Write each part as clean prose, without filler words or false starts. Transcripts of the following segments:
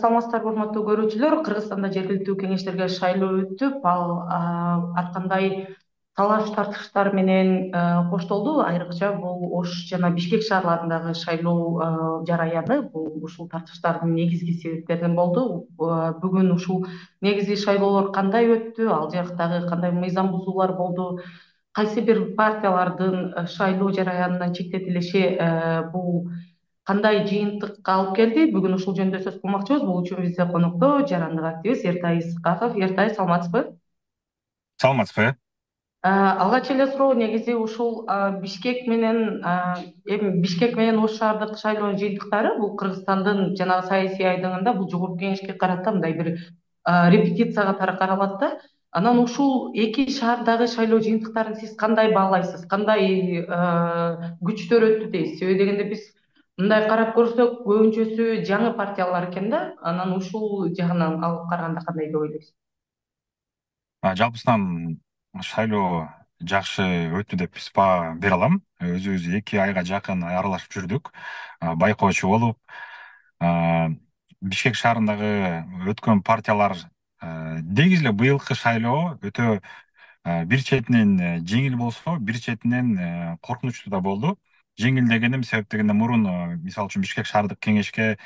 Саламатсыздарбы, урматтуу көрүүчүлөр. Кыргызстанда жергиликтүү кеңештерге шайлоо өтүп, ал ар кандай талаш тартыштар менен коштолду. Айрыкча бул Ош жана Бишкек шаарларындагы шайлоо жараяны ушул тартыштардын негизги себептеринен болду. Бүгүн ушул негизги шайлоолор кандай өттү, ал жактагы кандай мыйзам бузуулар болду, кайсы бир партиялардын шайлоо жараянынан четтетилиши бул кандай жыйынтыкка алып келди? Бүгүн ушул жөнүндө сөз кылмакчыбыз. Бул үчүн бизде конокто жарандык активист Эртай Исыкаков. Эртай, саламатсызбы? Саламатсызбы, э? Алгач эле суроо негизи ушул Бишкек менен эми Бишкек менен Ош шаардык шайлоонун жыйынтыктары бул Кыргызстандын жанагы саясий айдыңында бул жогорку кеңешке карата мындай бир репетиция катары каралат да. Анан ушул эки шаардагы шайлоо жыйынтыктарын сиз кандай баалайсыз? Кандай күчтөр өттү дейсиз? Себеби дегенде биз мындай карап көрсөк көбүнчөсү жаңы партиялар экен да. Анан ушул жагынан алып караганда кандай деп ойлойсуз? Жалпысынан шайлоо жакшы өттү деп биз баа бере алам. Өзүбүз 2 айга жакын аралашып жүрдүк, байкоочу болуп. Бишкек шаарындагы өткөн партиялар негизи эле быйылкы шайлоо өтө бир четинен жеңил болсо, бир четинен коркунучтуу да болду. Жеңил дегеним себеп дегенде мурун, мисалы үчүн Бишкек шаардык кеңешке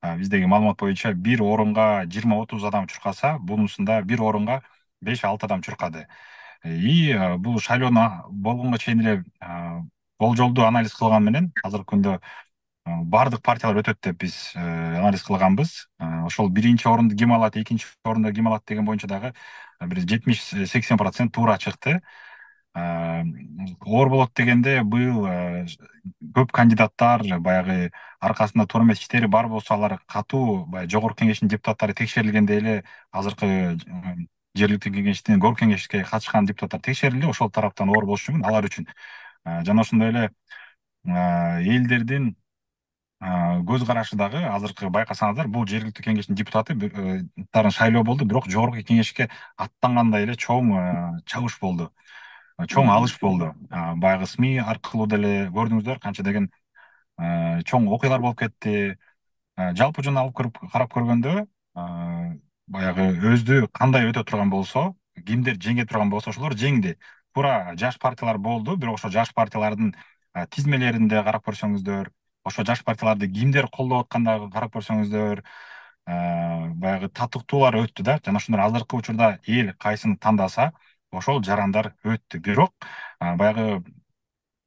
биздеги маалымат боюнча бир орунга 20-30 адам чуркаса, бунусунда бир орунга 5-6 адам чуркады. Бул шайлоону болгонго чейин эле болжолдуу анализ кылган менен азыркы күндө баардык партиялар өтөт деп биз анализ кылганбыз. Ошол биринчи орунду ким алат, экинчи орунду ким алат деген боюнча дагы бир 70-80% туура чыкты. Оор болот дегенде быйыл көп кандидаттар баягы аркасында туура эмес иштери бар болсо, алар катуу баягы жогорку кеңештин депутаттары текшерилгенде эле азыркы жергиликтүү кеңештин горку кеңешке катышкан депутаттар текшерилди. Ошол тараптан оор болушу мүмкүн алар үчүн. Жана ошондой эле элдердин көз карашы дагы азыркы байкасаңыздар, бул жергиликтүү кеңештин депутаттарын шайлоо болду, бирок жогорку кеңешке аттангандай эле чоң чабыш болду, чоң алыш болду. Баягы СМИ аркылуу деле көрдүңүздөр канча деген чоң окуялар болуп кетти. Жалпы жөн алып карап көргөндө, баягы өздү кандай өтө турган болсо, кимдер жеңе турган болсо ошолор жеңди. Туура жаш партиялар болду, бирок ошо жаш партиялардын тизмелеринде карап көрсөңүздөр, ошо жаш партияларды кимдер колдоп аткандыгын карап көрсөңүздөр, баягы татыктуулар өттү да. Жана ошондор азыркы учурда эл кайсыны тандаса, ошол жарандар өттү. Бирок баягы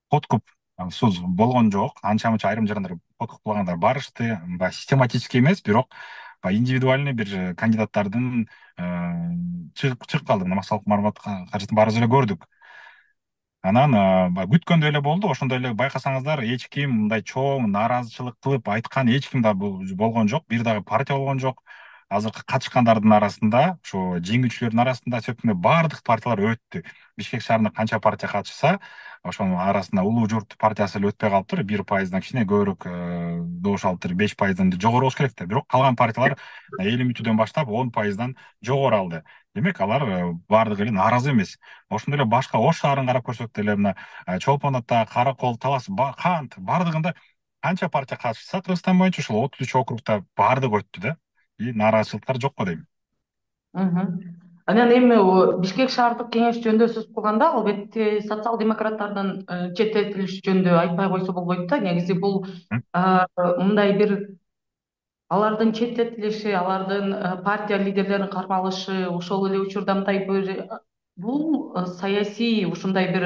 подкуп сууз болгон жок. Анча мынча айрым жарандар подкуплагандар барышты. Баягы систематический эмес, бирок баягы индивидуальный бир кандидаттардын чыгып калды. Мына Максатов Мармат кажетін баарыбыз эле көрдүк. Анан баягы күткөндөй эле болду. Ошондой эле байкасаңыздар, эч ким мындай чоң нааразычылык кылып айткан эч ким да болгон жок. Бир дагы партия болгон жок. Азыркы катышкандардын арасында, ошо жеңүүчүлөрдүн арасында сөзсүз баардык партиялар өттү. Бишкек шаарында канча партия катышса, ошонун арасында Улуу Журт партиясы эле өтпөй калыптыр. 1%дан кичине көбүрөөк добуш алыптыр. 5%дан жогору болуш керек да. Бирок калган партиялар 50 мүнөттөн баштап 10%дан жогору алды. Демек алар баардыгы эле нааразы эмес. Ошондой эле башка Ош шаарын карап көрсөк деле, мына Чолпон Ата, Каракол, Талас, Кант баардыгында канча партия катышса, Кыргызстан боюнча ушул 33 округда баардыгы өттү да. Нааразычылыктар жок го дейм. Анан эми Бишкек шаардык кеңеш жөнүндө сөз кылганда, албетте социал-демократтардын четтетилиши жөнүндө айтпай койсо болбойт да. Негизи бул мындай бир алардын четтетилиши, алардын партия лидерлерин кармалышы, ошол эле учурда мындай бир бул саясий ушундай бир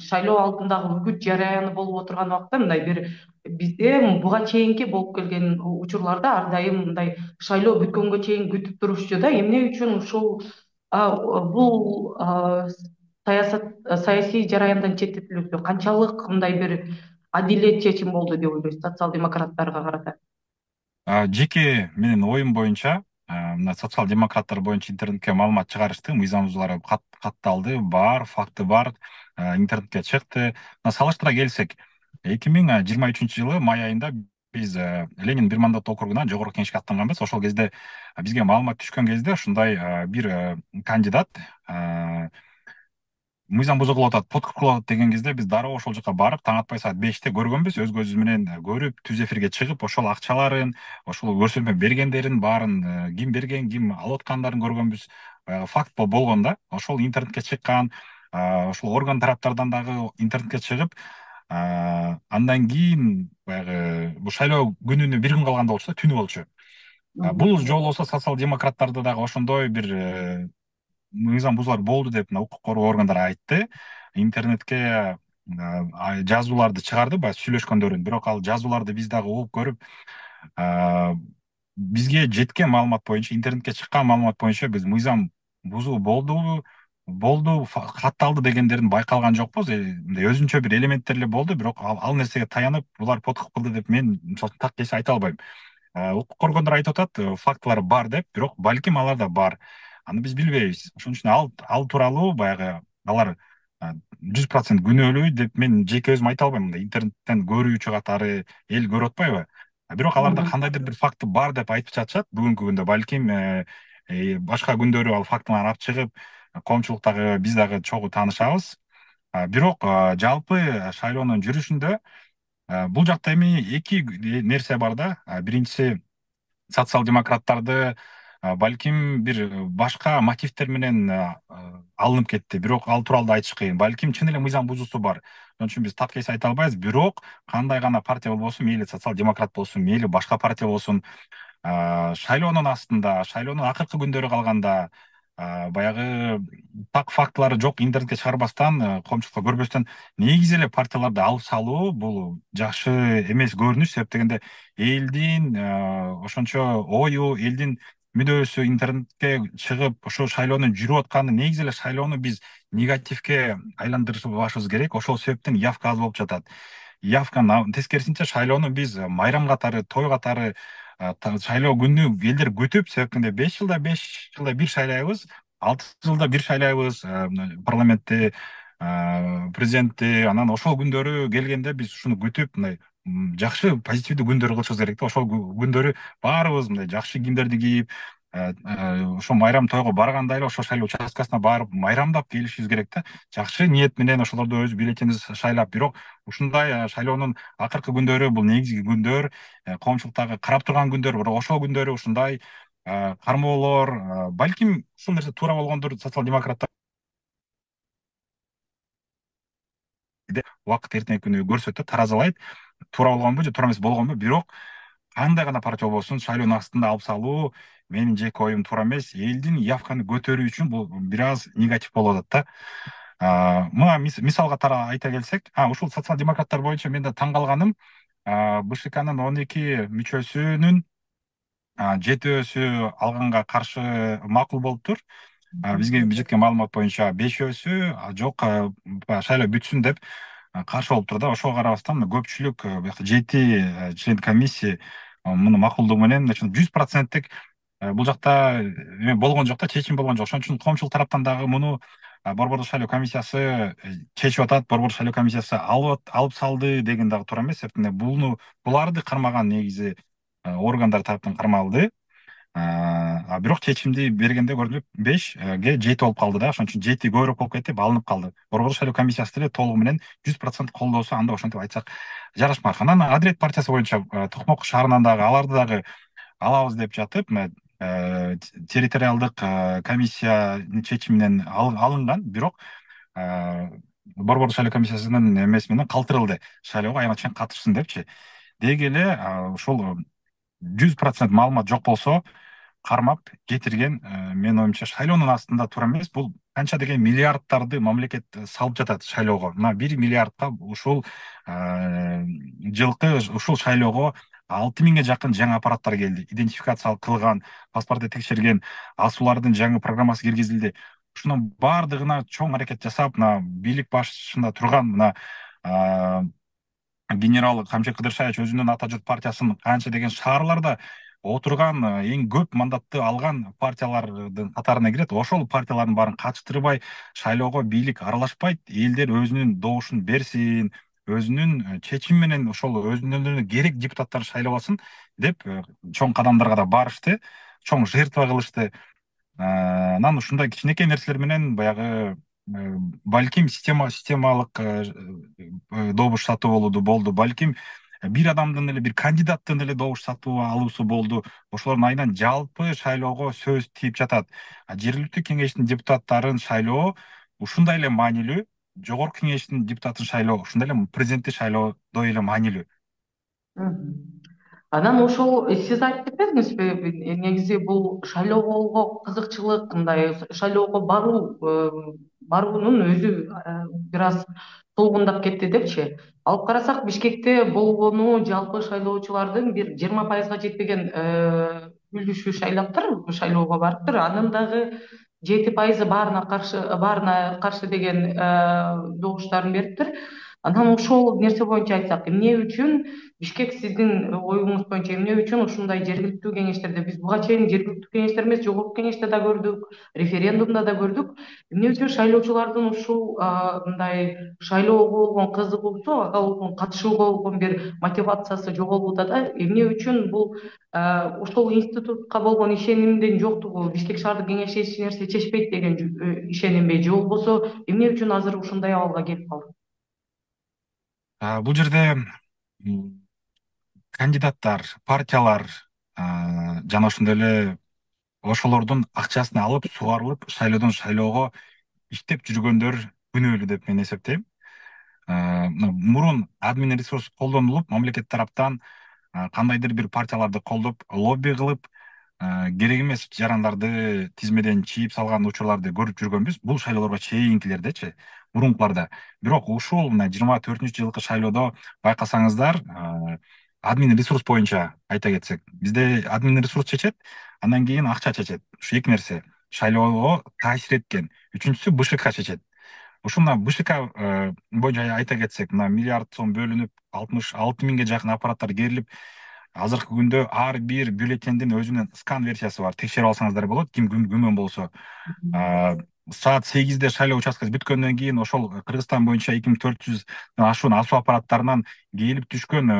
шайлоо алдындагы үгүт жараяны болуп отурган убакта мындай бир бизде буга чейинки болуп келген учурларда ар дайым мындай шайлоо бүткөнгө чейин күтүп турушчу да. Эмне үчүн ушул бул саясат саясий жараяндан четтетилүүсү канчалык мындай бир адилет чечим болду деп ойлойсуз социал-демократтарга карата? Жеке менин оюм боюнча, мына социал-демократтар боюнча интернетке маалымат чыгарышты, мыйзам бузуулар катталды, бар, факты бар, интернетке чыкты. Салыштыра келсек, 2023-жылы май айында биз Ленин бир мандат округунан жогорку кеңешке аттанганбыз. Ошол кезде бизге маалымат түшкөн кезде ушундай бир кандидат мыйзам бузугулуп атат, подкуп кылып атат деген кезде биз дароо ошол жака барып таң атпай саат 5-те көргөнбүз, өз көзүбүз менен көрүп, түз эфирге чыгып, ошол акчаларын, ошол көрсөтмө бергендерин баарын, ким берген, ким алып аткандарын көргөнбүз. Баягы факт болгон да, ошол интернетке чыккан, ошол орган тараптардан дагы интернетке чыгып, андан кийин баягы бул шайлоо күнүнө бир күн калганда болчу да, түнү болчу. Бул жолу болсо социал демократтарды дагы ошондой бир мыйзам бузуулар болду деп мына укук коргоо органдары айтты. Интернетке жазууларды чыгарды баягы сүйлөшкөндөрүн, бирок ал жазууларды биз дагы угуп көрүп, бизге жеткен маалымат боюнча, интернетке чыккан маалымат боюнча биз мыйзам бузуу болду, катталды дегендерин байкалган жокпуз. Мындай өзүнчө бир элементтер эле болду, бирок ал нерсеге таянып булар подкуп кылды деп мен мисалы үчүн так кесе айта албайм. Укук коргондор айтып атат, фактылар бар деп, бирок балким алар да бар. Аны биз билбейбиз. Ошон үчүн ал тууралуу баягы алар 100% күнөөлүү деп мен жеке өзүм айта албайм. Мындай интернеттен көрүүчү катары эл көрүп атпайбы? Бирок аларда кандайдыр бир факты бар деп айтып жатышат бүгүнкү күндө. Балким башка күндөрү ал фактыларды алып чыгып, коомчулуктагы биз дагы чогуу таанышабыз. Бирок жалпы шайлоонун жүрүшүндө бул жакта эми эки нерсе бар да. Биринчиси, социал демократтарды балким бир башка мотивдер менен алынып кетти, бирок ал тууралуу да айтыш кыйын. Балким чын эле мыйзам бузуусу бар. Ошон үчүн биз так эсе айта албайбыз. Бирок кандай гана партия болбосун, мейли социал демократ болсун, мейли башка партия болсун, шайлоонун астында, шайлоонун акыркы күндөрү калганда, баягы так фактылары жок интернетке чыгарбастан, коомчулукка көрбөстөн негизи эле партияларды алып салуу бул жакшы эмес көрүнүш. Себеп дегенде элдин ошончо ою, элдин мүдөөсү интернетке чыгып, ошо шайлоонун жүрүп атканы, негизи эле шайлоону биз негативге айландырбашыбыз керек. Ошол себептен явка аз болуп жатат. Явканын тескерисинче шайлоону биз майрам катары, той катары, шайлоо күнү элдер күтүп, себеп 5 жылда бир шайлайбыз, 6 жылда бир шайлайбыз парламентти, президентти. Анан ошол күндөрү келгенде биз ушуну күтүп, мындай жакшы позитивдүү күндөр кылышыбыз керек да. Ошол күндөрү баарыбыз мындай жакшы кийимдерди кийип, ошо майрам тойго барганда эле ошо шайлоо участкасына барып майрамдап келишибиз керек да. Жакшы ниет менен ошолорду өз бюллетенибизди шайлап. Бирок ушундай шайлоонун акыркы күндөрү бул негизги күндөр, коомчулуктагы карап турган күндөр. Бирок ошол күндөрү ушундай кармоолор, балким ушул нерсе туура болгондур. Социал демократтар убакыт эртеңки күнү көрсөтөт, таразалайт, туура болгонбу же туура эмес болгонбу. Бирок кандай гана партия болбосун, шайлоонун астында алып салуу менин жеке оюм туура эмес. Элдин явканы көтөрүү үчүн бул бир аз негатив болуп атат да. Мына мисал катары айта келсек, ушул социал демократтар боюнча мен да таң калганым, БШКнын 12 мүчөсүнүн 7-өсү алганга каршы макул болуптур. Бизге жеткен маалымат боюнча 5-өсү жок, шайлоо бүтсүн деп каршы болуптур да. Ошого карабастан көпчүлүк, биякта 7 член комиссия муну макулдугу менен 100%, бул жакта эме болгон жок да, чечим болгон жок. Ошон үчүн коомчулук тараптан дагы муну борбордук шайлоо комиссиясы чечип атат. Борбордук шайлоо комиссиясы алып салды деген дагы туура эмес. Себеп буларды кармаган негизи органдар тараптан кармалды. Бирок чечимди бергенде көрүнүп 5ге 7 болуп калды да. Ошон үчүн 7 көбүрөөк болуп кетип алынып калды. Борбордук шайлоо комиссиясы деле толугу менен 100% колдоосу анда ошентип айтсак жарашмак. Анан Адилет партиясы боюнча Токмок шаарынан дагы аларды дагы алабыз деп жатып, территориалдык комиссиянын чечими менен алынган. Бирок борбордук шайлоо комиссиясынын эмеси менен калтырылды. Шайлоого аябай чейин катышсын депчи. Деги эле ушул 100% маалымат жок болсо кармап кетирген, менин оюмча шайлоонун астында туура эмес. Бул канча деген миллиарддарды мамлекет салып жатат шайлоого. Мына 1 миллиардка ушул жылкы ушул шайлоого 6 000ге жакын жаңы аппараттар келди. Идентификация кылган, паспорту текшерген, асуулардын жаңы программасы киргизилди. Ушунун баардыгына чоң аракет жасап, мына бийлик башчысында турган мына генерал Камчы Кыдыршаевич өзүнүн Ата журт партиясынын канча деген шаарларда отурган, эң көп мандатты алган партиялардын катарына кирет. Ошол партиялардын баарын качтырбай, шайлоого бийлик аралашпайт, элдер өзүнүн добушун берсин, өзүнүн чечими менен ошол өзүнүнө керек депутаттарды шайлап алсын деп чоң кадамдарга да барышты, чоң жертва кылышты. Анан ушундай кичинекей нерселер менен баягы балким системалык добуш сатып алуу болду, балким бир адамдын эле, бир кандидаттын эле добуш сатып алуусу болду. Ошолордун айынан жалпы шайлоого сөз тийип жатат. Жергиликтүү кеңештин депутаттарын шайлоо ушундай эле маанилүү, жогорку кеңештин депутатын шайлоо ушундай эле президентти шайлоодой эле маанилүү. Мгм. Анан ошол сиз айтып кетпедиңизби, негизи бул шайлоого кызыкчылык, мындай шайлоого баруунун өзү бир аз солгундап кетти депчи. Алып карасак, Бишкекте болгону жалпы шайлоочулардын бир 20% жетпеген үлүшү шайлаптыр, шайлоого барыптыр. Анын дагы 7% баарына каршы деген добуштарын бериптир. Анан ошол нерсе боюнча айтсак, эмне үчүн Бишкек, сиздин оюңуз боюнча эмне үчүн ушундай жергиликтүү кеңештерде, биз буга чейин жергиликтүү кеңештер эмес, жогорку кеңеште да көрдүк, референдумда да көрдүк, эмне үчүн шайлоочулардын ушул мындай шайлоого болгон кызыгуусу, ага болгон катышууга болгон бир мотивациясы жоголуп атат да? Эмне үчүн бул ошол институтка болгон ишенимдин жоктугу, Бишкек шаардык кеңеши эч нерсе чечпейт деген ишенимби, же болбосо эмне үчүн азыр ушундай абалга келип калды? Бул жерде кандидаттар, партиялар жана ошондой эле ошолордун акчасын алып сугарылып шайлоодон шайлоого иштеп жүргөндөр күнөөлүү деп мен эсептейм. Мурун админ ресурс колдонулуп, мамлекет тараптан кандайдыр бир партияларды колдоп, лобби кылып, керек эмес жарандарды тизмеден чийип салган учурларды көрүп жүргөнбүз. Бул шайлоолорго чейинкилердечи, мурункуларда. Бирок ушул мына 24-жылкы шайлоодо байкасаңыздар, админ ресурс боюнча айта кетсек, бизде админ ресурс чечет, андан кийин акча чечет. Ушу эки нерсе шайлоого таасир эткен. Үчүнчүсү БШК чечет. Ушул мына БШК боюнча айта кетсек, мына миллиард сом бөлүнүп, 66 000ге жакын аппараттар керилип, азыркы күндө ар бир бюллетендин өзүнүн скан версиясы бар. Текшерип алсаңыздар болот, ким күмөн болсо. Саат 8-де шайлоо участкасы бүткөндөн кийин ошол Кыргызстан боюнча 2400 ашуун асуу аппараттарынан келип түшкөн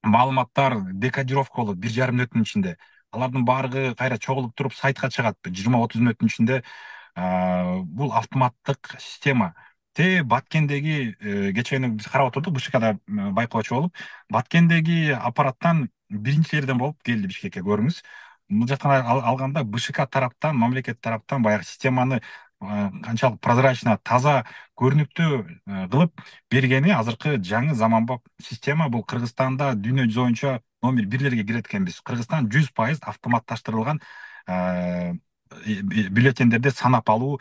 маалыматтар декодировка болот 1,5 мүнөттүн ичинде. Алардын баардыгы кайра чогулуп туруп сайтка чыгат 20-30 мүнөттүн ичинде. Бул автоматтык система. Баткендеги кечээ биз карап отурдук, БШКда байкоочу болуп, Баткендеги аппараттан биринчи жерден болуп келди Бишкекке, көрүңүз. Бул жактан алганда БШК тараптан, мамлекет тараптан баягы системаны канчалык прозрачно, таза, көрүнүктүү кылып бергени азыркы жаңы заманбап система. Бул Кыргызстанда дүйнө жүзү боюнча номер бирлерге кирет экенбиз. Кыргызстан 100% автоматташтырылган бюллетендерди санап алуу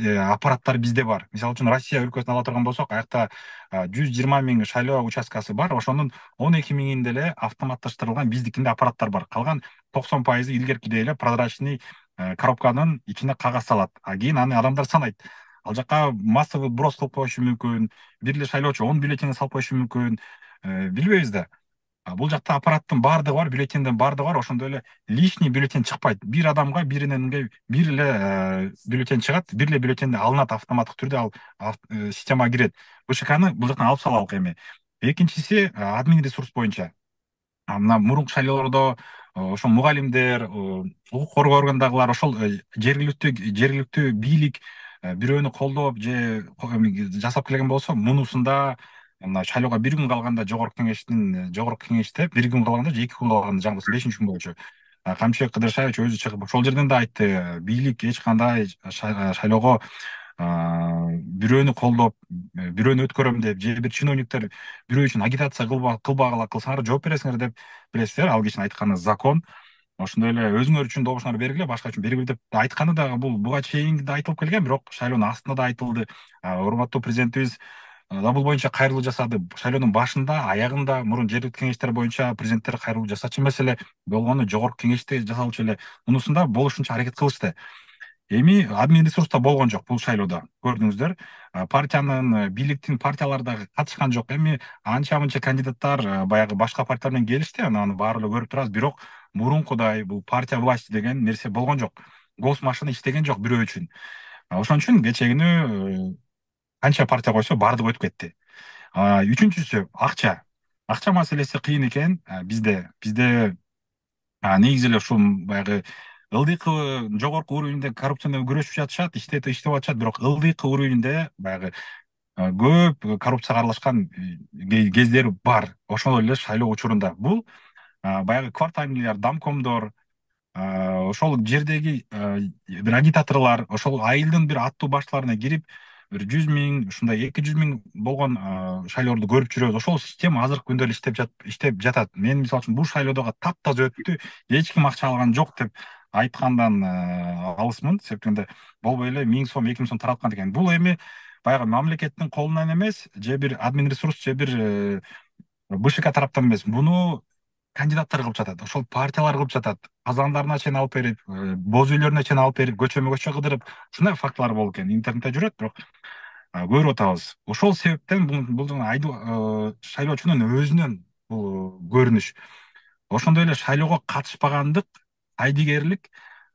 аппараттар бизде бар. Мисалы үчүн Россия өлкөсүн ала турган болсок, аякта 120 000 шайлоо участкасы бар. Ошонун 12 000-inde эле автоматташтырылган биздикинде аппараттар бар. Калган 90% илгеркидей эле прозрачный коробканын ичине кагаз салат. Кийин аны адамдар санайт. Ал жака массовый брос кылып коюшу мүмкүн. Бир эле шайлоочу 10 бюллетень салып коюшу мүмкүн. Билбейбиз да. Бул жакта аппараттын баардыгы бар, бюллетендин баардыгы бар. Ошондой эле лишний бюллетень чыкпайт. Бир адамга бир эле бюллетень чыгат, бир эле бюллетень алынат автоматтык түрдө, ал системага кирет. БШКны бул жактан алып салалык эми. Экинчиси админ ресурс боюнча. Мына мурунку шайлоолордо ошол мугалимдер, укук коргоо органдагылар, ошол жергиликтүү бийлик бирөөнү колдоп же жасап келген болсо, мунусунда мына шайлоого бир күн калганда жогорку кеңеште бир күн калганда же 2 күн калганда, жаңы болсо 5-күн болчу, Камчыбек Кыдыршаевич өзү чыгып ошол жерден да айтты, бийлик эч кандай шайлоого бирөөнү колдоп, бирөөнү өткөрөм деп, же бир чиновниктер бирөө үчүн агитация кылбагыла кылсаңар жооп бересиңер деп билесиздер. Ал кишинин айтканы закон. Ошондой эле өзүңөр үчүн добушуңарды бергиле, башка үчүн бергиле деп айтканы дагы бул буга чейин да айтылып келген, бирок шайлоонун астында да айтылды. Урматтуу президентибиз да бул боюнча кайрылуу жасады. Шайлоонун башында, аягында мурун жергиликтүү кеңештер боюнча президенттер кайрылуу жасачу эмес эле болгону, жогорку кеңеште жасалчу эле. Мунусунда болушунча аракет кылышты. Эми админ ресурста болгон жок бул шайлоодо, көрдүңүздөр. Партиянын, бийликтин партиялары дагы катышкан жок. Эми анча мынча кандидаттар баягы башка партиялар менен келишти, аны баары эле көрүп турабыз. Бирок мурункудай бул партия власти деген нерсе болгон жок. Госмашина иштеген жок бирөө үчүн. Ошон үчүн кечээ канча партия койсо баардыгы өтүп кетти. Үчүнчүсү акча. Акча маселеси кыйын экен. Бизде негизи эле ушул баягы ылдыйкы жогорку уровеньде коррупция менен күрөшүп жатышат, иштеп атышат, бирок ылдыйкы уровеньде баягы көп коррупцияга аралашкан кездер бар. Ошол эле шайлоо учурунда бул баягы квартальныйлар, домкомдор, ошол жердеги бир агитаторлор ошол айылдын бир аттуу баштарына кирип, бир 100 000, ушундай 200 000 болгон шайлоолорду көрүп жүрөбүз. Ошол система азыркы күндө эле иштеп жатат. Мен мисалы үчүн бул шайлоодогу таптаза өттү, эч ким акча алган жок деп айткандан алысмын. Себептен болбой эле 1.000 сом, 2.000 сом тараткан экен. Бул эми баягы мамлекеттин колунан эмес, же бир админ ресурс, же бир БШК тараптан эмес. Буну кандидаттар кылып жатат, ошол партиялар кылып жатат. Казандарына чейин алып берип, боз үйлөрүнө чейин алып берип, көчөмө көчө кыдырып, ушундай фактылар болуп экен. Интернетте жүрөт, бирок көрүп атабыз. Ошол себептен бул шайлоочунун өзүнөн бул көрүнүш. Ошондой эле шайлоого катышпагандык, айдигерлик,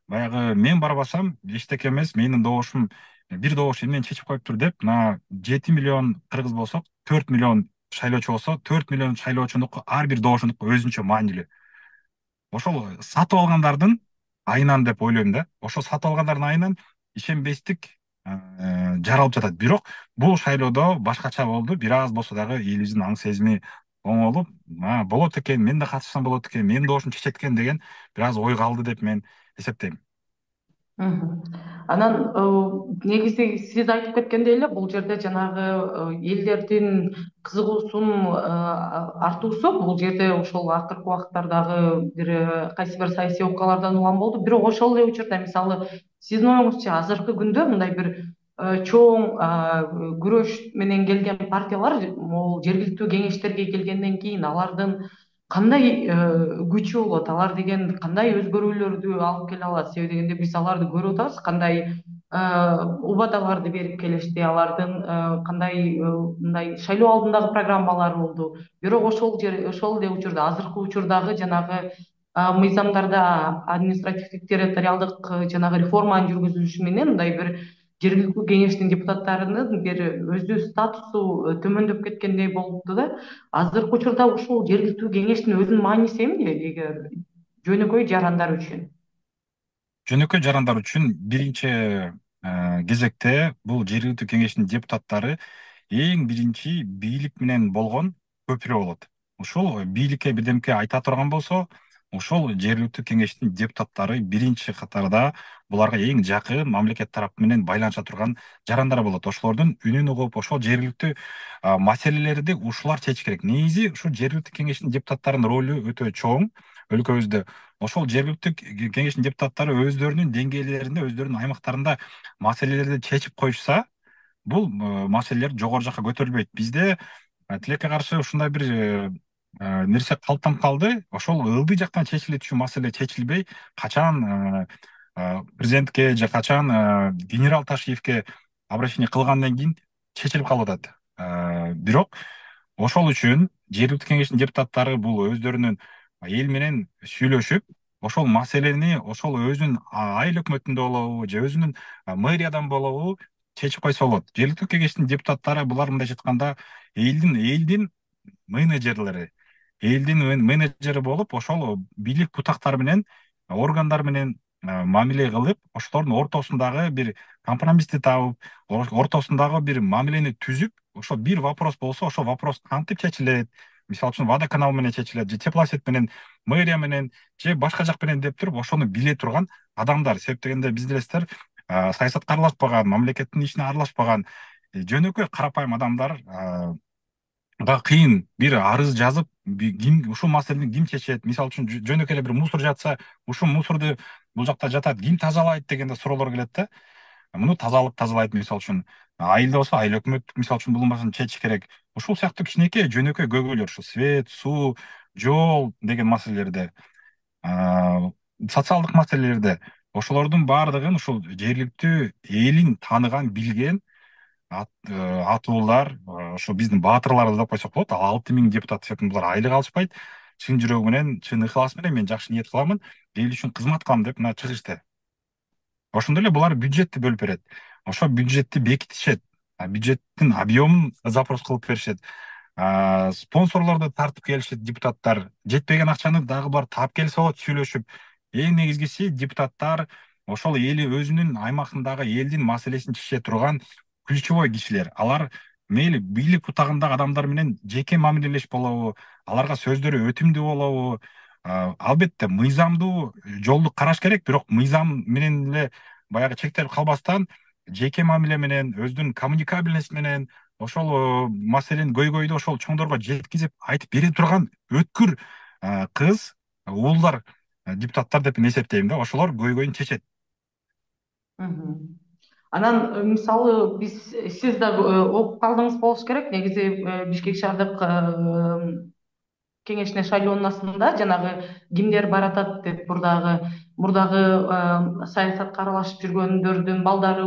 баягы мен барбасам эчтеке эмес, менин добушум бир добуш эмнени чечип коюптур деп, мына 7 миллион кыргыз болсок, 4 миллион шайлоочу болсо, 4 миллион шайлоочунуку ар бир добушунуку өзүнчө маанилүү. Ошол сатып алгандардын айынан деп ойлойм да. Ошол сатып алгандардын айынан ишенбестик жаралып жатат. Бирок бул шайлоодо башкача болду. Бир аз болсо дагы элибиздин аң сезими оңолуп, болот экен, мен да катышсам болот экен, менин добушум чечет экен деген бир аз ой калды деп мен эсептейм. Мгм. Анан негизи сиз айтып кеткендей эле бул жерде жанагы элдердин кызыгуусунун артуусу бул жерде ошол акыркы убакыттардагы бир кайсы бир саясий окуялардан улам болду. Бирок ошол эле учурда мисалы сиздин оюңузча азыркы күндө мындай бир чоң күрөш менен келген партиялар могул жергиликтүү кеңештерге келгенден кийин алардын кандай күчү болот, алар деген кандай өзгөрүүлөрдү алып келе алат? Себеби дегенде биз аларды көрүп атабыз, кандай убадаларды берип келишти, алардын кандай мындай шайлоо алдындагы программалары болду. Бирок ошол эле учурда, азыркы учурдагы жанагы мыйзамдарда административдик территориалдык жанагы реформанын жүргүзүлүшү менен мындай бир жергиликтүү кеңештин депутаттарынын бир өзү статусу төмөндөп кеткендей болупту да. Азыркы учурда ушул жергиликтүү кеңештин өзүнүн мааниси эмне эгер жөнөкөй жарандар үчүн? Жөнөкөй жарандар үчүн биринчи кезекте бул жергиликтүү кеңештин депутаттары эң биринчи бийлик менен болгон көпүрө болот. Ушул бийликке бирдемке айта турган болсо, ошол жергиликтүү кеңештин депутаттары биринчи катарда буларга эң жакын мамлекет тарапы менен байланыша турган жарандар болот. Ошолордун үнүн угуп, ошол жергиликтүү маселелерди ушулар чечиш керек. Негизи ушул жергиликтүү кеңештин депутаттарынын ролу өтө чоң өлкөбүздө. Ошол жергиликтүү кеңештин депутаттары өздөрүнүн деңгээлдеринде, өздөрүнүн аймактарында маселелерди чечип коюшса, бул маселелер жогору жакка көтөрүлбөйт. Бизде тилекке каршы ушундай бир нерсе калыптанып калды. Ошол ылдый жактан чечиле түшүү маселе чечилбей, качан президентке же качан генерал Ташиевке обращение кылгандан кийин чечилип калып атат. Бирок ошол үчүн жергиликтүү кеңештин депутаттары бул өздөрүнүн эл менен сүйлөшүп, ошол маселени ошол өзүнүн айыл өкмөтүндө болобу же өзүнүн мэриядан болобу чечип койсо болот. Жергиликтүү кеңештин депутаттары булар мындайча айтканда элдин менеджерлери, элдин менеджери болуп, ошол бийлик бутактары менен, органдар менен мамиле кылып, ошолордун ортосундагы бир компромиссти табып, ортосундагы бир мамилени түзүп, ошо бир вопрос болсо, ошол вопрос кантип чечилет, мисалы үчүн водоканал менен чечилет, же теплосет менен, мэрия менен, же башка жак менен деп туруп, ошону биле турган адамдар. Себеп дегенде биз билесиздер, саясатка аралашпаган, мамлекеттин ишине аралашпаган жөнөкөй карапайым адамдар кыйын бир арыз жазып, ким ушул маселени ким чечет, мисалы үчүн жөнөкөй эле бир мусор жатса, ушул мусорду бул жакта жатат, ким тазалайт дегенде суроолор келет да. Муну тазалайт, мисалы үчүн айылда болсо айыл өкмөт мисалы үчүн бул маселени чечиш керек. Ушул сыяктуу кичинекей жөнөкөй көйгөйлөр, ушу свет, суу, жол деген маселелерде, социалдык маселелерде, ошолордун баардыгын ушул жергиликтүү элин тааныган, билген атуулар, ошо биздин баатырлар деп койсок болот. 6 000 депутат сыяктуу булар айлык алышпайт. Чын жүрөгү менен, чын ыхлас менен мен жакшы ниет кыламын, эл үчүн кызмат кылам деп мына чыгышты. Ошондой эле булар бюджетти бөлүп берет. Ошо бюджетти бекитишет. Бюджеттин объемун запрос кылып беришет. Спонсорлорду тартып келишет депутаттар. Жетпеген акчаны дагы булар таап келсе болот, сүйлөшүп. эң негизгиси депутаттар ошол эли өзүнүн аймагындагы элдин маселесин чече турган ключевой кишилер. Алар мейли бийлик бутагындагы адамдар менен жеке мамилелеш болобу, аларга сөздөрү өтүмдүү болобу, албетте мыйзамдуу жолду караш керек, бирок мыйзам менен эле баягы чектелип калбастан жеке мамиле менен, өзүнүн коммуникабельность менен ошол маселени көйгөйдү ошол чоңдорго жеткизип айтып бере турган өткүр кыз, уулдар депутаттар деп мен эсептейм да. Ошолор көйгөйүн чечет. Мгм. Анан мисалы сиз да окуп калдыңыз болуш керек. Негизи Бишкек шаардык кеңешине шайлоонун жанагы кимдер баратат деп мурдагы саясатка аралашып жүргөндөрдүн балдары,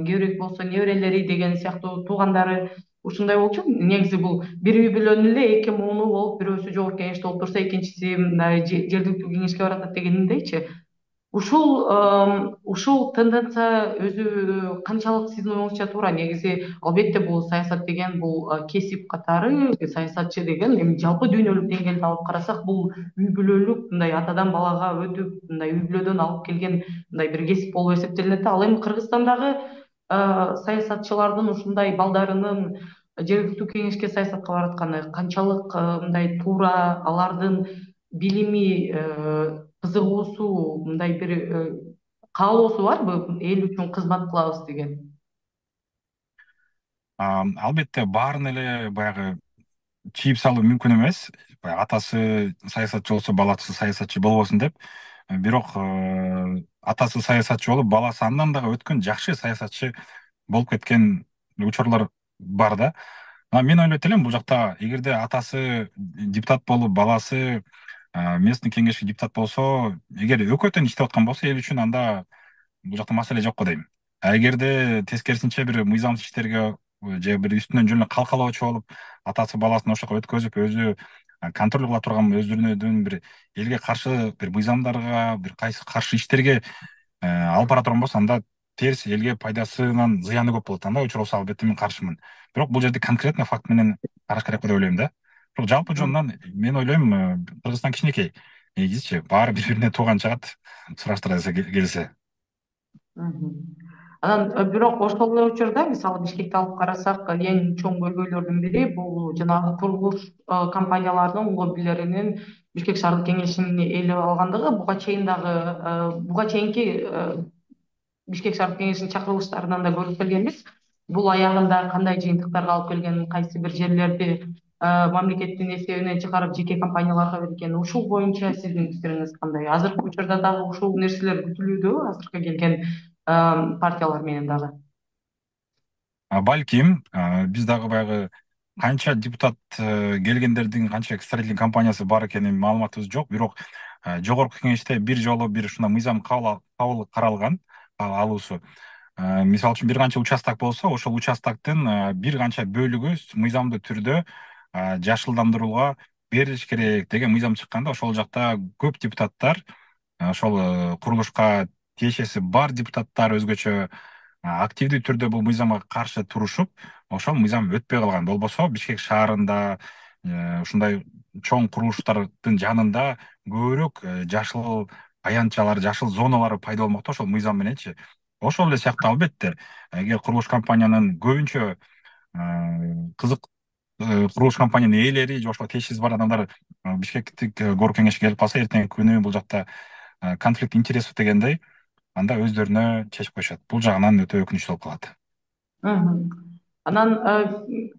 кебирээк болсо неберелери деген сыяктуу туугандары ушундай болчу. Негизи бул бир үй бүлөнүн эле эки мууну болуп, бирөөсү жогорку кеңеште болуп турса, экинчиси мындай жергиликтүү кеңешке баратат дегениндейчи. Ушул тенденция өзү канчалык сиздин оюңузча туура? Негизи албетте бул саясат деген бул кесип катары, саясатчы деген эми жалпы дүйнөлүк деңгээлде алып карасак, бул үй бүлөлүк мындай атадан балага өтүп, мындай үй бүлөдөн алып келген мындай бир кесип болуп эсептелинет да. Ал эми Кыргызстандагы саясатчылардын ушундай балдарынын жергиликтүү кеңешке саясатка баратканы канчалык мындай туура, алардын билими, кызыгуусу, мындай бир каалоосу барбы эл үчүн кызмат кылабыз деген? Албетте баарын эле баягы чийип салуу мүмкүн эмес. Баягы атасы саясатчы болсо баласы саясатчы болбосун деп. Бирок атасы саясатчы болуп, баласы андан дагы өткөн жакшы саясатчы болуп кеткен учурлар бар да. Мен ойлойт элем, бул жакта эгерде атасы депутат болуп, баласы местный кеңешке депутат болсо, эгер экөө тең иштеп аткан болсо эл үчүн, анда бул жакта маселе жок го дейм. А эгерде тескерисинче бир мыйзамсыз иштерге же бир үстүнөн жөн эле калкалоочу болуп, атасы баласын ошол жака өткөзүп, өзү контроль кыла турган, өздөрүнүн бир элге каршы бир мыйзамдарга, бир кайсы каршы иштерге алып бара турган болсо, анда терс, элге пайдасынан зыяны көп болот. Андай учур болсо, албетте мен каршымын. Бирок бул жерде конкретно факт менен караш керек деп ойлойм да. Бирок жалпы жонунан мен ойлойм, Кыргызстан кичинекей. Негизичи баары бири бирине тууган чыгат, сураштыра келсе. Мгм. Анан бирок ошол эле учурда мисалы Бишкекти алып карасак, эң чоң көйгөйлөрдүн бири бул жанагы курулуш компанияларынын лоббилеринин Бишкек шаардык кеңешин ээлеп алгандыгы. Буга чейинки Бишкек шаардык кеңешинин чакырылыштарынан да көрүп келгенбиз. Бул аягында кандай жыйынтыктарга алып келгенин, кайсы бир жерлерди мамлекеттин эсебинен чыгарып жеке компанияларга берген, ушул боюнча сиздин пикириңиз кандай? Азыркы учурда дагы ушул нерселер күтүлүүдө, азыркы келген партиялар менен дагы? Балким биз дагы баягы канча депутат келгендердин канча строительный компаниясы бар экенин маалыматыбыз жок. Бирок жогорку кеңеште бир жолу бир ушундай мыйзам кабыл каралган, алуусу. Мисалы үчүн бир канча участок болсо, ошол участоктун бир канча бөлүгү мыйзамдуу түрдө жашылдандырууга берилиш керек деген мыйзам чыкканда, ошол жакта көп депутаттар, ошол курулушка тиешеси бар депутаттар өзгөчө активдүү түрдө бул мыйзамга каршы турушуп, ошол мыйзам өтпөй калган. Болбосо Бишкек шаарында ушундай чоң курулуштардын жанында көбүрөөк жашыл аянтчалар, жашыл зоналар пайда болмок да ошол мыйзам мененчи. Ошол эле сыяктуу албетте, эгер курулуш компаниянын көбүнчө кызык курулуш компаниянын ээлери же ошого тиешеси бар адамдар Бишкектик горком кеңешке келип калса, эртеңки күнү бул жакта конфликт интересов дегендей, анда өздөрүнө чечип коюшат. Бул жагынан өтө өкүнүчтүү болуп калат. Мгм. Анан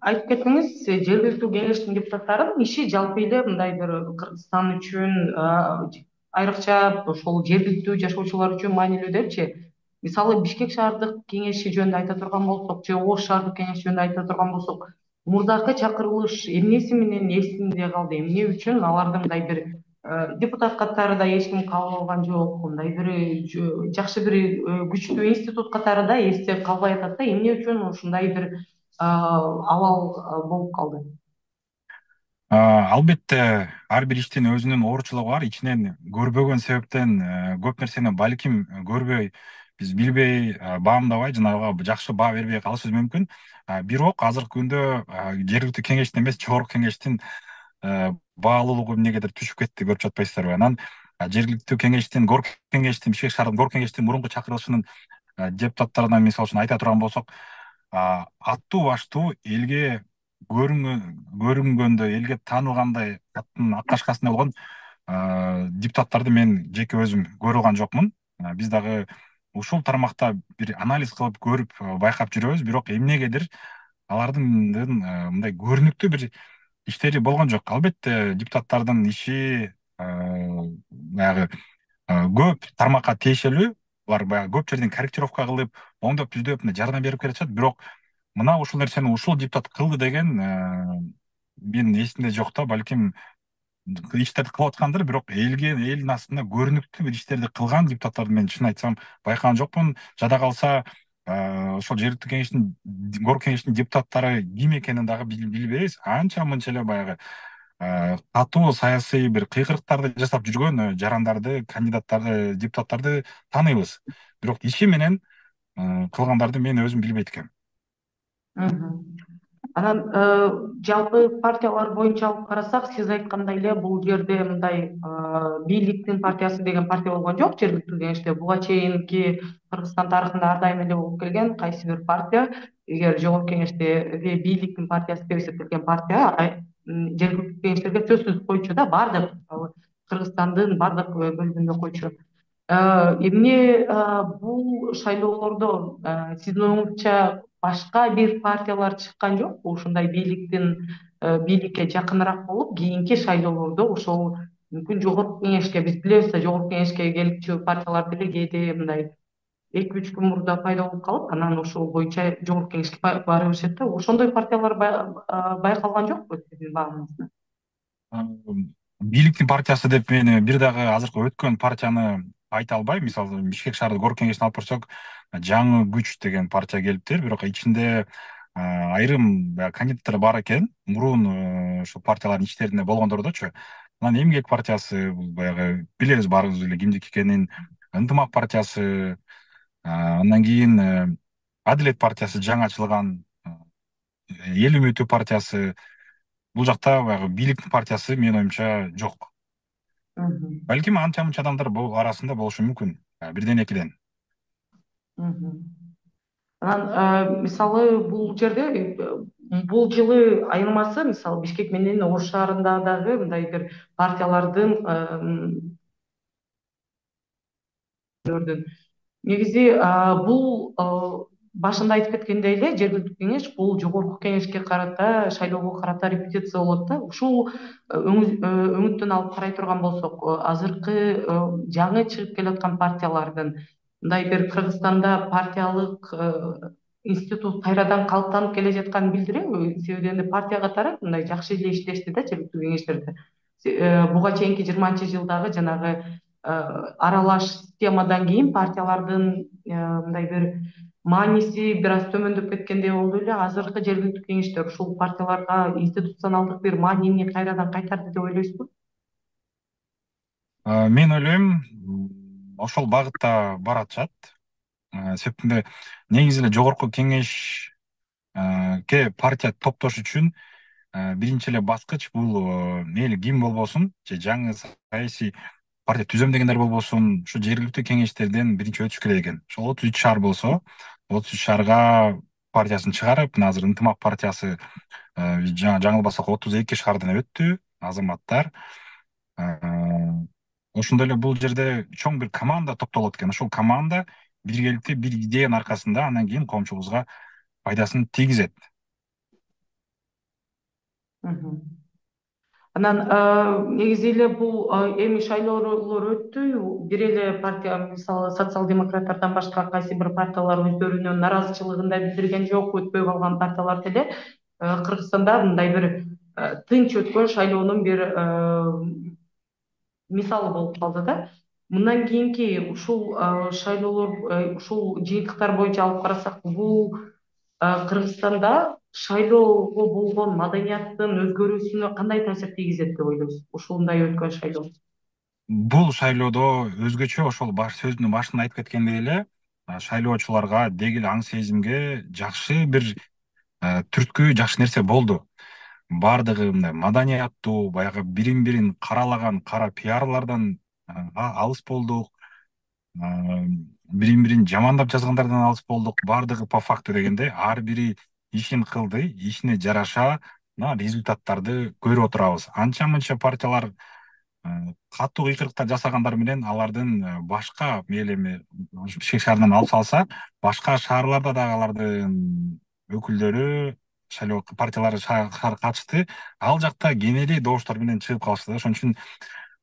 айтып кеттиңиз, жергиликтүү кеңештин депутаттарынын иши жалпы эле мындай бир Кыргызстан үчүн айрыкча ошол жергиликтүү жашоочулар үчүн маанилүү депчи. Мисалы Бишкек шаардык кеңеши жөнүндө айта турган болсок, же Ош шаардык кеңеши жөнүндө айта турган болсок, мурдакы чакырылыш эмнеси менен эсинде калды? Эмне үчүн аларды мындай бир депутат катары да эч ким кабыл алган жок, мындай бир жакшы бир күчтүү институт катары да эсте калбай атат да. Эмне үчүн ушундай бир абал болуп калды? Албетте ар бир иштин өзүнүн оорчулугу бар. Ичинен көрбөгөн себептен көп нерсени балким көрбөй, биз билбей, баамдабай, жанагы жакшы баа бербей калышыбыз мүмкүн. Бирок азыркы күндө жергиликтүү кеңештин эмес, жогорку кеңештин баалуулугу эмнегедир түшүп кетти, көрүп жатпайсыздарбы? Анан жергиликтүү кеңештин, горк кеңештин, Бишкек шаардык горк кеңештин мурунку чакырылышынын депутаттарынан мисалы үчүн айта турган болсок, аттуу баштуу элге көрүнгөндө, элге таанылгандай аттын ак кашкасында болгон депутаттарды мен жеке өзүм көрүп алган жокмун. Биз дагы ушул тармакта бир анализ кылып көрүп байкап жүрөбүз, бирок эмнегедир алардын мындай көрүнүктүү бир иштери болгон жок. Албетте депутаттардын иши баягы көп тармакка тиешелүү, алар баягы көп жерден корректировка кылып, оңдоп түздөп мындай жардам берип келатышат. Бирок мына ушул нерсени ушул депутат кылды деген менин эсимде жок да. Балким иштерди кылып аткандыр, бирок элдин астында көрүнүктүү бир иштерди кылган депутаттарды мен чын айтсам байкаган жокмун. Жада калса ошол жергиликтүү кеңештин, горк кеңештин депутаттары ким экенин дагы билбейбиз. Анча мынча эле баягы катуу саясий бир кыйкырыктарды жасап жүргөн жарандарды, кандидаттарды, депутаттарды тааныйбыз. Бирок иши менен кылгандарды мен өзүм билбейт экенм. Мгм. Анан жалпы партиялар боюнча алып карасак, сиз айткандай эле бул жерде мындай бийликтин партиясы деген партия болгон жок жергиликтүү кеңеште. Буга чейинки Кыргызстан тарыхында ар дайым эле болуп келген кайсы бир партия, эгер жогорку кеңештеги бийликтин партиясы деп эсептелген партия жергиликтүү кеңештерге сөзсүз койчу да, баардык Кыргызстандын баардык бөлүгүндө койчу. Эмне бул шайлоолордо сиздин оюңузча башка бир партиялар чыккан жокпу ушундай бийликке жакыныраак болуп, кийинки шайлоолордо ошол мүмкүн жогорку кеңешке, биз билебиз да жогорку кеңешке келчү партиялар деле кээде мындай 2-3 күн мурда пайда болуп калып, анан ошол боюнча жогорку кеңешке бара беришет да. Ошондой партиялар байкалган жокпу сиздин баамыңызда? Бийликтин партиясы деп мен бир дагы азыркы өткөн партияны айта албайм. Мисалы Бишкек шаардык горк кеңешин алып көрсөк, жаңы күч деген партия келиптир, бирок ичинде айрым кандидаттар бар экен, мурун ушул партиялардын ичтеринде болгондордочу. Анан Эмгек партиясы, бул баягы билебиз баарыбыз эле кимдики экенин. Ынтымак партиясы, андан кийин Адилет партиясы жаңы ачылган, Эл үмүтү партиясы. Бул жакта баягы бийликтин партиясы менин оюмча жок. Мгм. Балким анча мынча адамдар бул арасында болушу мүмкүн. Бирден экиден. Мгм. Анан мисалы бул жерде бул жылы айырмасы мисалы Бишкек менен Ош шаарында дагы мындай бир партиялардын негизи бул башында айтып кеткендей эле жергиликтүү кеңеш бул жогорку кеңешке карата, шайлоого карата репетиция болот да. Ушул өңүттөн алып карай турган болсок, азыркы жаңы чыгып келаткан партиялардын мындай бир Кыргызстанда партиялык институт кайрадан калыптанып келе жатканын билдиреби? Себеби эми партия катары мындай жакшы эле иштешти да жергиликтүү кеңештерде. Буга чейинки 20-жылдагы жанагы аралаш системадан кийин партиялардын мындай бир мааниси бир аз төмөндөп кеткендей болду эле. Азыркы жергиликтүү кеңештер ушул партияларга институционалдык бир маанини кайрадан кайтарды деп ойлойсузбу? Мен ойлойм, ошол багытта баратышат. Себептинде негизи эле жогорку кеңешке партия топтош үчүн биринчи эле баскыч бул мейли ким болбосун, же жаңы саясий партия түзөм дегендер болбосун, ушу жергиликтүү кеңештерден биринчи өтүш керек экен. Ошол 33 шаар болсо, 33 шаарга партиясын чыгарып, мына азыр Ынтымак партиясы жаңылбасак 32 шаардан өттү азаматтар. Ошондой эле бул жерде чоң бир команда топтолот экен. Ошол команда биргеликте бир идеянын аркасында андан кийин коомчубузга пайдасын тийгизет. Мгм. Анан негизи эле бул эми шайлоолор өттү. Бир эле партия, мисалы социал-демократтардан башка кайсы бир партиялар өздөрүнүн наразычылыгын да билдирген жок. Өтпөй калган партиялар деле Кыргызстанда мындай бир тынч өткөн шайлоонун бир мисалы болуп калды да. Мындан кийинки ушул шайлоолор, ушул жыйынтыктар боюнча алып карасак, бул Кыргызстанда шайлоого болгон маданияттын өзгөрүүсүнө кандай таасир тийгизет деп ойлойсуз? Ушундай өткөн шайлоо. Бул шайлоодо өзгөчө ошол сөзүнүн башында айтып кеткендей эле шайлоочуларга деги эле аң сезимге жакшы бир түрткү, жакшы нерсе болду. Баардыгы мындай маданияттуу, баягы бирин бирин каралаган кара пиарлардан алыс болдук, бирин бирин жамандап жазгандардан алыс болдук. Баардыгы по факту дегенде ар бири ишин кылды, ишине жараша мына результаттарды көрүп отурабыз. Анча мынча партиялар катуу кыйкырыктар жасагандар менен алардын башка мейли эми Бишкек шаарынан алып салса, башка шаарларда дагы алардын өкүлдөрү, шайлоо партиялары катышты. Ал жакта кенели добуштар менен чыгып калышты да. Ошон үчүн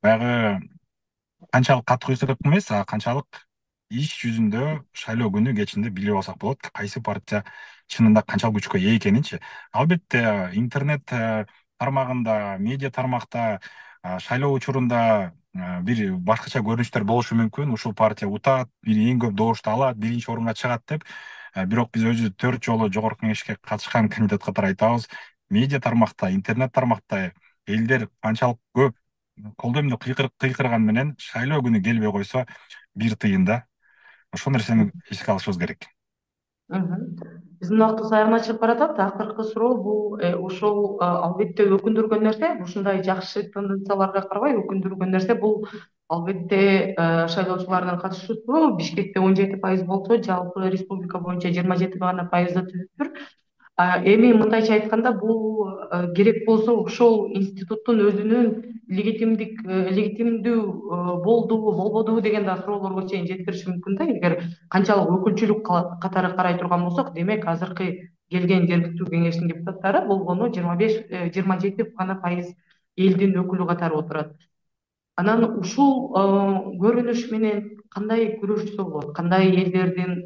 баягы канчалык катуу кыйкырык эмес, а канчалык иш жүзүндө шайлоо күнү кечинде билип алсак болот, кайсы партия чынында канчалык күчкө ээ экенинчи. Албетте интернет тармагында, медиа тармакта шайлоо учурунда бир башкача көрүнүштөр болушу мүмкүн. Ушул партия утат, бир эң көп добушту алат, биринчи орунга чыгат деп. Бирок биз өзүбүз 4 жолу жогорку кеңешке катышкан кандидат катары айтабыз. Медиа тармакта, интернет тармакта элдер канчалык көп колдоо эмне кыйкырган менен шайлоо күнү келбей койсо бир тыйын да. Ошол нерсени эске алышыбыз керек. Мгм. Биздин убактыбыз аягына чыгып баратат. Акыркы суроо бул ошол албетте өкүндүргөн нерсе, ушундай жакшы тенденцияларга карабай өкүндүргөн нерсе бул албетте шайлоочулардын катышуусу. Бишкекте 17% болсо, жалпы республика боюнча 27 гана пайызды түзүптүр. Эми мындайча айтканда бул керек болсо ошол институттун өзүнүн легитимдүү болдубу болбодубу деген да суроолорго чейин жеткириши мүмкүн да. Эгер канчалык өкүлчүлүк катары карай турган болсок, демек азыркы келген жергиликтүү кеңештин депутаттары болгону 25 27 гана пайыз элдин өкүлү катары отурат. Анан ушул көрүнүш менен кандай күрөшсө болот, кандай элдердин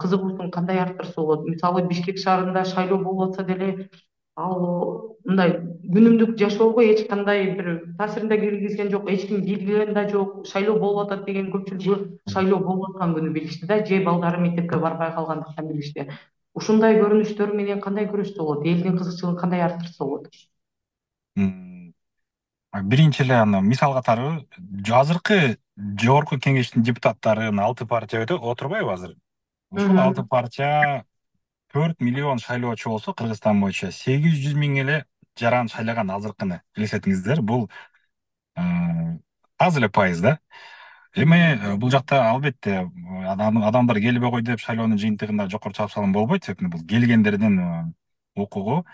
кызыгуусун кандай арттырса болот? Мисалы Бишкек шаарында шайлоо болуп атса деле, ал мындай күнүмдүк жашоого эч кандай бир таасирин да киргизген жок, эч ким билген да жок. Шайлоо болуп атат деген көпчүлүгү шайлоо болуп аткан күнү билишти да, же балдары мектепке барбай калгандыктан билишти. Ушундай көрүнүштөр менен кандай күрөшсө болот? Элдин кызыкчылыгын кандай арттырса болот? Биринчи эле аны мисал катары азыркы жогорку кеңештин депутаттарын 6 партия отурбайбы азыр? Ушул 6 партия 4 миллион шайлоочу болсо, Кыргызстан боюнча 800 миң эле жаран шайлаган азыркыны элестетиңиздер. Бул аз эле пайыз да. Эми бул жакта албетте адамдар келбей койду деп шайлоонун жыйынтыгында жокору чыгып салган болбойт. Себеби бул келгендердин укугу.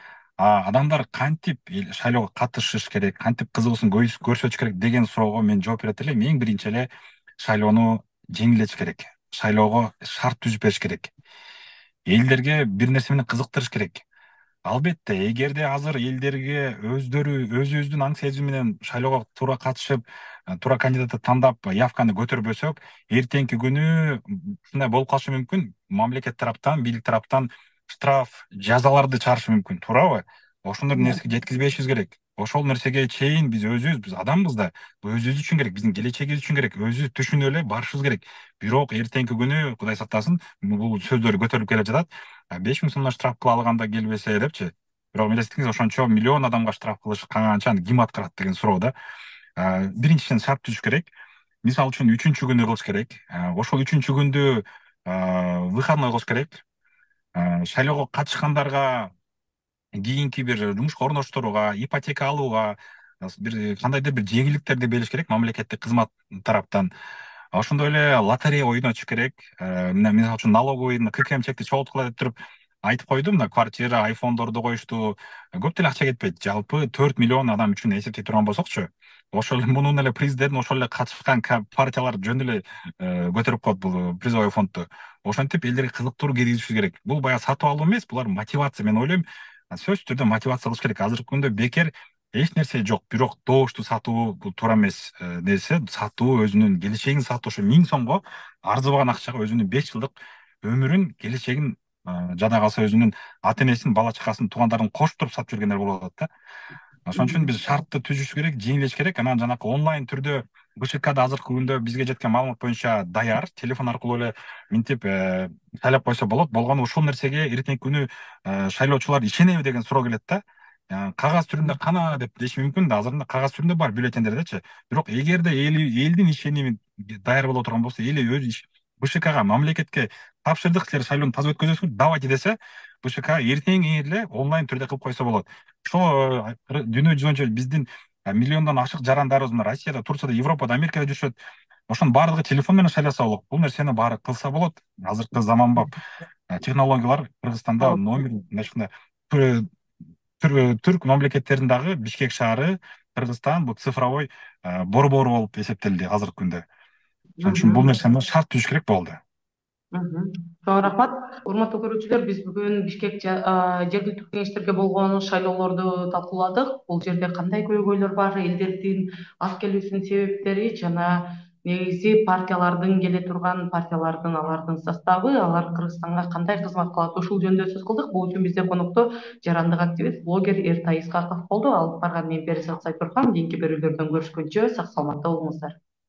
Адамдар кантип шайлоого катышыш керек, кантип кызыгуусун көрсөтүш керек деген суроого мен жооп берет элем. Эң биринчи эле шайлоону жеңилдетиш керек. Шайлоого шарт түзүп бериш керек. Элдерге бир нерсе менен кызыктырыш керек. Албетте, эгерде азыр элдерге өзүбүздүн аң сезим менен шайлоого туура катышып, туура кандидатты тандап, явканы көтөрбөсөк, эртеңки күнү ушундай болуп калышы мүмкүн. Мамлекет тараптан, бийлик тараптан штраф, жазаларды чыгарышы мүмкүн, туурабы? Ошондой нерсеге жеткизбешибиз керек. Ошол нерсеге чейин биз адамбыз да. Бул өзүбүз үчүн керек, биздин келечегибиз үчүн керек. Өзүбүз түшүнүп эле барышыбыз керек. Бирок эртеңки күнү, Кудай сактасын, бул сөздөр көтөрүлүп келе жатат. 5 000 сомдон штраф кыла алганда келбесе депчи. Бирок элестетиңиз, ошончо миллион адамга штраф кылыш канчаны ким аткарат деген суроо да. Биринчиден шарт түзүш керек. Мисалы үчүн 3-чү күнү кылыш керек. Ошол 3-чү күндү выходной кылыш керек. Шайлоого катышкандарга кийинки бир жумушка орноштурууга, ипотека алууга бир кандайдыр бир жеңилдиктерди бериш керек мамлекеттик кызмат тараптан. Ошондой эле лотерея ойнотуш керек. Мына мисалы үчүн налоговый ККМ чекти чогулткула деп туруп айтып койду. Мына квартира, айфондорду коюшту. Көп деле акча кетпейт. Жалпы 4 миллион адам үчүн эсептей турган болсокчу, ошол эле мунун эле президент, ошол эле катышкан партиялар жөн эле көтөрүп коет бул призовой фондду. Ошентип элдерге кызыктыруу киргизишибиз керек. Бул баягы сатып алуу эмес, булар мотивация. Мен ойлойм, сөзсүз түрдө мотивация кылыш керек. Азыркы күндө бекер эч нерсе жок. Бирок добушту сатуу бул туура эмес нерсе. Сатуу өзүнүн келечегин сатуу. Ошо 1000 сомго арзыбаган акчага өзүнүн 5 жылдык өмүрүн, келечегин жада калса өзүнүн ата энесин, бала чакасын, туугандарын кошуп туруп сатып жүргөндөр болуп атат да. Ошон үчүн биз шартты түзүш керек, жеңилдеш керек. Анан жанакы онлайн түрдө БШКда азыркы күндө бизге жеткен маалымат боюнча даяр, телефон аркылуу эле минтип шайлап койсо болот. Болгону ушул нерсеге эртеңки күнү шайлоочулар ишенеби деген суроо келет да. Кагаз түрүндө кана деп деши мүмкүн да, азырында кагаз түрүндө бар бюллетендердечи. Бирок эгерде элдин ишеними даяр боло турган болсо, эл өз БШКга, мамлекетке тапшырдык, силер шайлоону таза өткөзөсүңөр, давайте десе, БШК эртең эле онлайн түрдө кылып койсо болот. Ошо дүйнө жүзү боюнча биздин миллиондон ашык жарандарыбыз мына Россияда, Турцияда, Европада, Америкада жүрүшөт. Ошонун баардыгы телефон менен шайласа болот. Бул нерсени баары кылса болот. Азыркы заманбап технологиялар Кыргызстанда номер мындай түрк мамлекеттеринин дагы Бишкек шаары, Кыргызстан бул цифровой борбору болуп эсептелди азыркы күндө. Ошон үчүн бул нерсени шарт түзүш керек болду. Чоң рахмат. Урматтуу көрүүчүлөр, биз бүгүн Бишкек жергиликтүү кеңештерге болгон шайлоолорду талкууладык. Бул жерде кандай көйгөйлөр бар, элдердин аз келүүсүнүн себептери жана негизи партиялардын алардын составы, алар Кыргызстанга кандай кызмат кылат, ушул жөнүндө сөз кылдык. Бул үчүн бизде конокто жарандык активист, блогер Эртай Исхаков болду. Алып барган мен Перизат Сайтурхан. Кийинки берүүлөрдөн көрүшкөнчө сак саламатта болуңуздар.